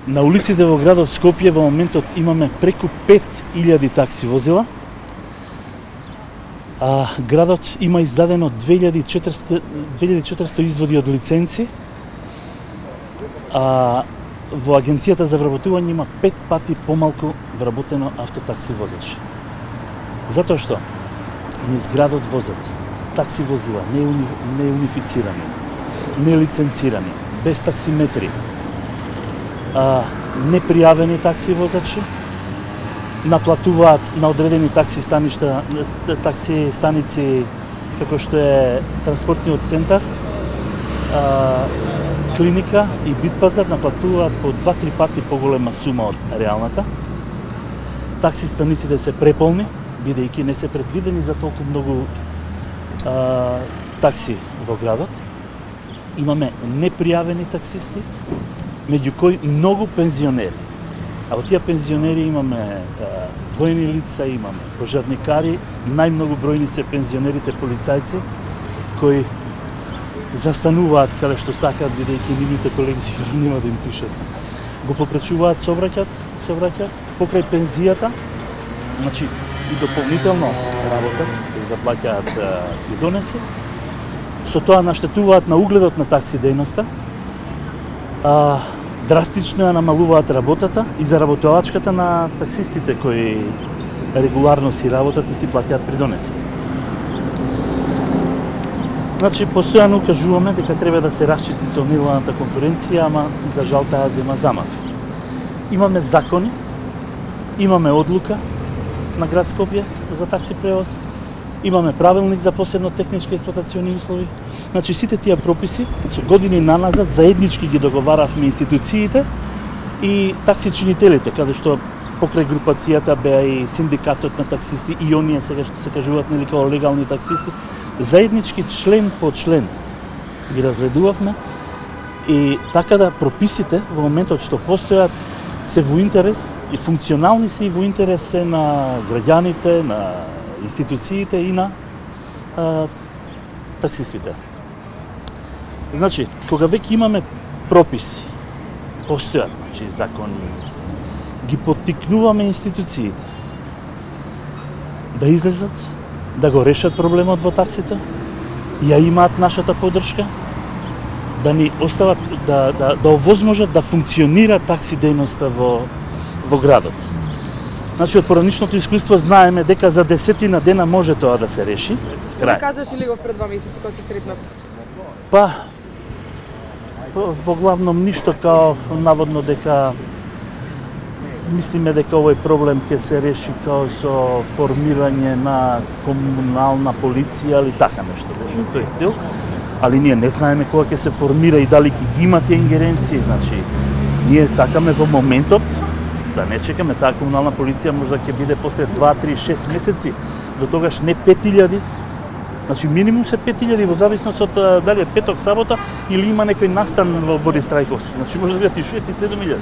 На улиците во градот Скопје во моментот имаме преку 5000 такси возила. Градот има издадено 2400 изводи од лиценци. Во Агенцијата за вработување има 5 пати помалку вработено автотакси возачи. Затоа што низ градот возат такси возила не унифицирани, не лиценцирани, без таксиметри, непријавени такси возачи, наплатуваат на одредени такси станици како што е транспортниот центар, клиника и Битпазар, наплатуваат по 2-3 пати поголема сума од реалната. Такси станиците се преполни, бидејќи не се предвидени за толку многу такси во градот. Имаме непријавени таксисти, меѓу кои многу пензионери. А од тие пензионери имаме воени лица, имаме пожарникари, најмногу бројни се пензионерите полицајци, кои застануваат каде што сакаат, бидејќи нивните колеги сигурно нема да им пишат. Го попречуваат сообраќајот, покрај пензијата, значи и дополнително работа, без да плаќаат и донеси. Со тоа наштетуваат на угледот на такси дејноста, драстично ја намалуваат работата и заработувачката на таксистите кои регуларно си работат и си плаќаат придонеси. Значи, постојано укажуваме дека треба да се расчисти со нелојалната конкуренција, ама за жал таа зема замав. Имаме закони, имаме одлука на град Скопје за такси превоз, имаме правилник за посебно технички експлоатациони услови. Значи, сите тие прописи со години наназад заеднички ги договаравме институциите и таксичинителите, каде што покрај групацијата беа и синдикатот на таксисти и оние сега што се кажуваат нели како легални таксисти, заеднички член по член ги разредувавме и така да прописите во моментот што постојат се во интерес и функционални се и во интерес се на граѓаните, на институциите и на таксистите. Значи, кога веќе имаме прописи, постојат, значи закони, ги поттикнуваме институциите да излезат, да го решат проблемот во таксите, ја имаат нашата поддршка, да ни остават, да овозможат да функционира такси дејноста во градот. Значи, од пораничното искуство знаеме дека за 10 дена може тоа да се реши. Што ми кажеш или го пред 2 месеци кога се сретнавте? Во главном ништо, као наводно дека мислиме дека овој проблем ќе се реши као со формирање на комунална полиција или така нешто беше тој стил, али ние не знаеме кога ќе се формира и дали ќе ги има тие ингеренции. Значи, ние сакаме во моментот да не чекаме, таа комунална полиција можда ќе биде после 2, 3, 6 месеци, до тогаш не 5000, значи минимум се 5000 во зависност од дали е петок, сабота или има некој настан во Борис Трајковски, значи може да бидат и 6 и 7000.